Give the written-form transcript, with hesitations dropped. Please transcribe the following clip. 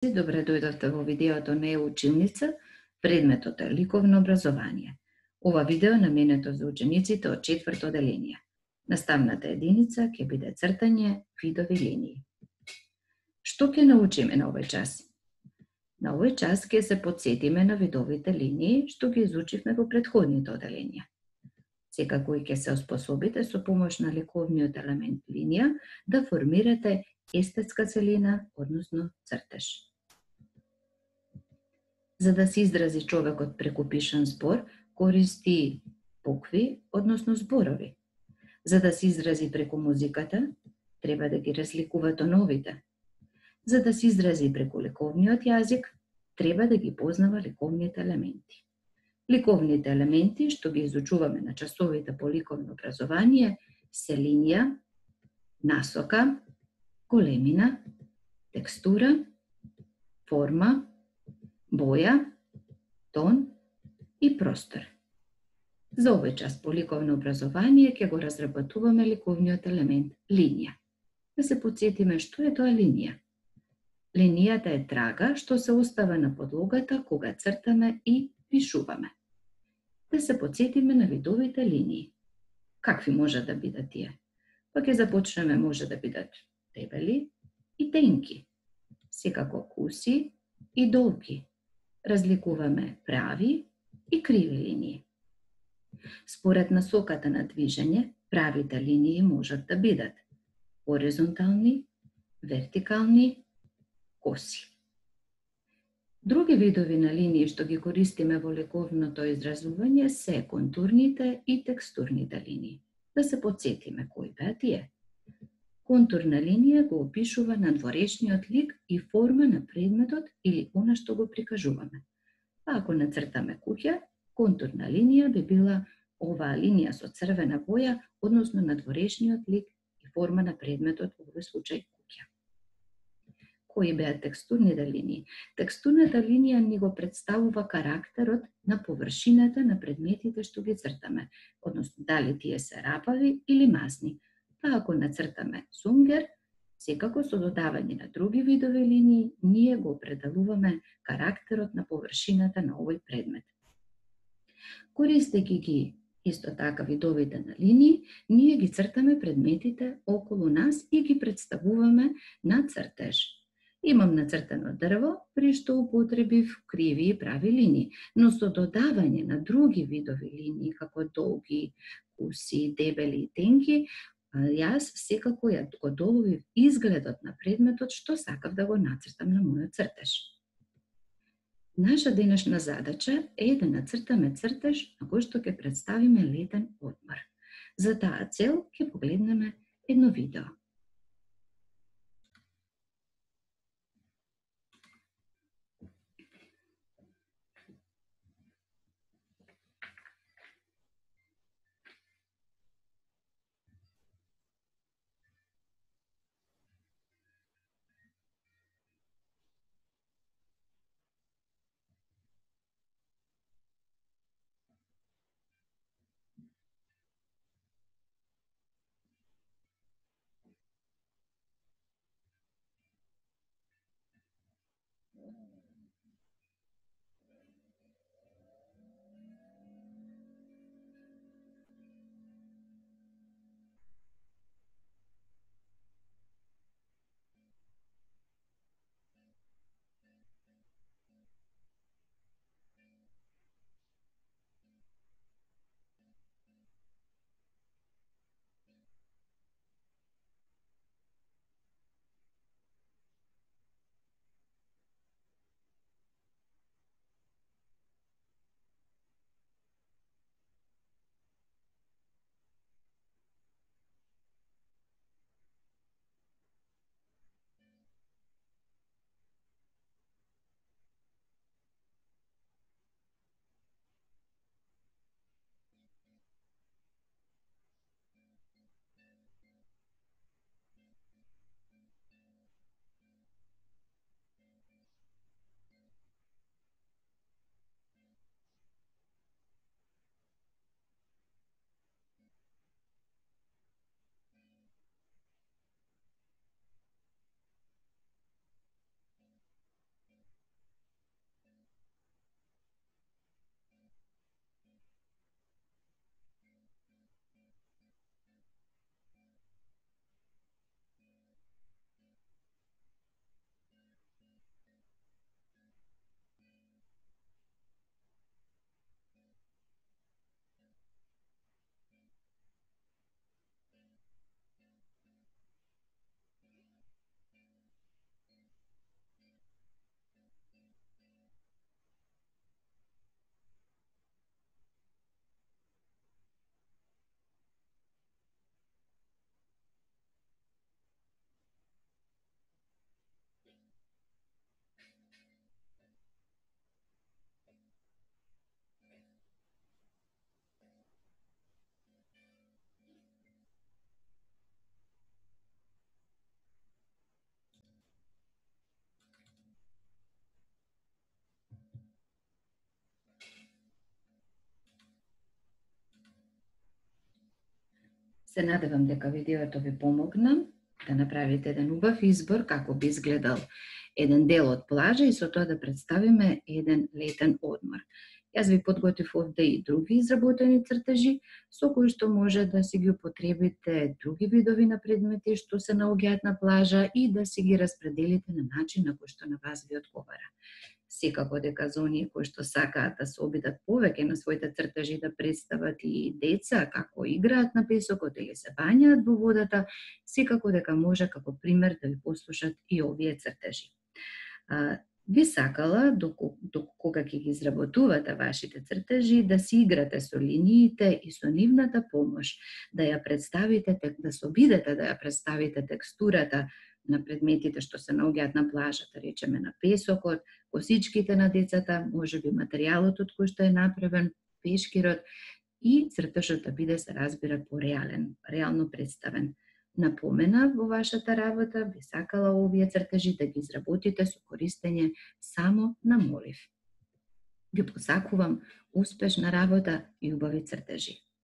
Добре дојдовте во видеото на училница, предметот е ликовно образование. Ова видео е наменето за учениците од 4-то оделение. Наставната единица ќе биде цртање видови линии. Што ќе научиме на овој час? На овој час ќе се потсетиме на видовите линии што ги изучивме во претходните оделенија. Секако и ќе се оспособите со помош на ликовниот елемент линија да формирате естетска целина, односно цртеж. За да се изрази човекот преку пишан збор, користи букви, односно зборови. За да се изрази преку музиката, треба да ги разликува тоновите. За да се изрази преку ликовниот јазик, треба да ги познава ликовните елементи. Ликовните елементи, што ги изучуваме на часовите по ликовно образование, се линија, насока, големина, текстура, форма, боја, тон и простор. За овој час по ликовно образование ќе го разработуваме ликовниот елемент линија. Да се потсетиме што е тоа линија. Линијата е трага што се остава на подлогата кога цртаме и пишуваме. Да се потсетиме на видовите линии. Какви може да бидат тие? Па ќе започнеме, може да бидат дебели и тенки, секако куси и долги. Разликуваме прави и криви линии. Според насоката на движење, правите линии можат да бидат хоризонтални, вертикални, коси. Други видови на линии што ги користиме во ликовното изразување се контурните и текстурните линии. Да се потсетиме кои беа тие. Контурна линија го опишува надворешниот лик и форма на предметот или она што го прикажуваме. Па ако нацртаме куќа, контурна линија би била оваа линија со црвена боја, односно надворешниот лик и форма на предметот, во овој случај куќа. Кои беа текстурните линии? Текстурната линија ни го представува карактерот на површината на предметите што ги цртаме, односно дали тие се рапави или мазни. Па ако нацртаме сунгер, секако со додавање на други видови линии, ние го определуваме карактерот на површината на овој предмет. Користејќи ги исто така видовите на линии, ние ги цртаме предметите околу нас и ги представуваме на цртеж. Имам нацртано дрво, при што употребив криви и прави линии, но со додавање на други видови линии, како долги, куси, дебели и тенки, јас секако ја го доловив изгледот на предметот што сакав да го нацртам на мојот цртеж. Наша денешна задача е да нацртаме цртеж на кој што ќе представиме летен одмор. За таа цел ќе погледнеме едно видео. Се надевам дека видеото ви помогна да направите еден убав избор како би изгледал еден дел од плажа и со тоа да представиме еден летен одмор. Јас ви подготвив овде и други изработени цртежи со кои што може да си ги употребите други видови на предмети што се наоѓаат на плажа и да си ги распределите на начин на кој што на вас ви одговара. Секако дека за оние кои што сакаат да се обидат повеќе на своите цртежи да представат и деца како играат на песокот или се бањаат во водата, секако дека може како пример да ви послушат и овие цртежи. Би сакала, кога ќе ги изработувате вашите цртежи, да си играте со линиите и со нивната помош, да ја представите, да се обидете да ја представите текстурата на предметите што се наоѓаат на плажата, речеме на песокот, косичките на децата, можеби материјалот од кој што е направен, пешкирот и цртежот да биде, се разбира, пореален, реално представен. Напомена во вашата работа, би сакала овие цртежи да ги изработите со користење само на молив. Ви посакувам успешна работа и убави цртежи.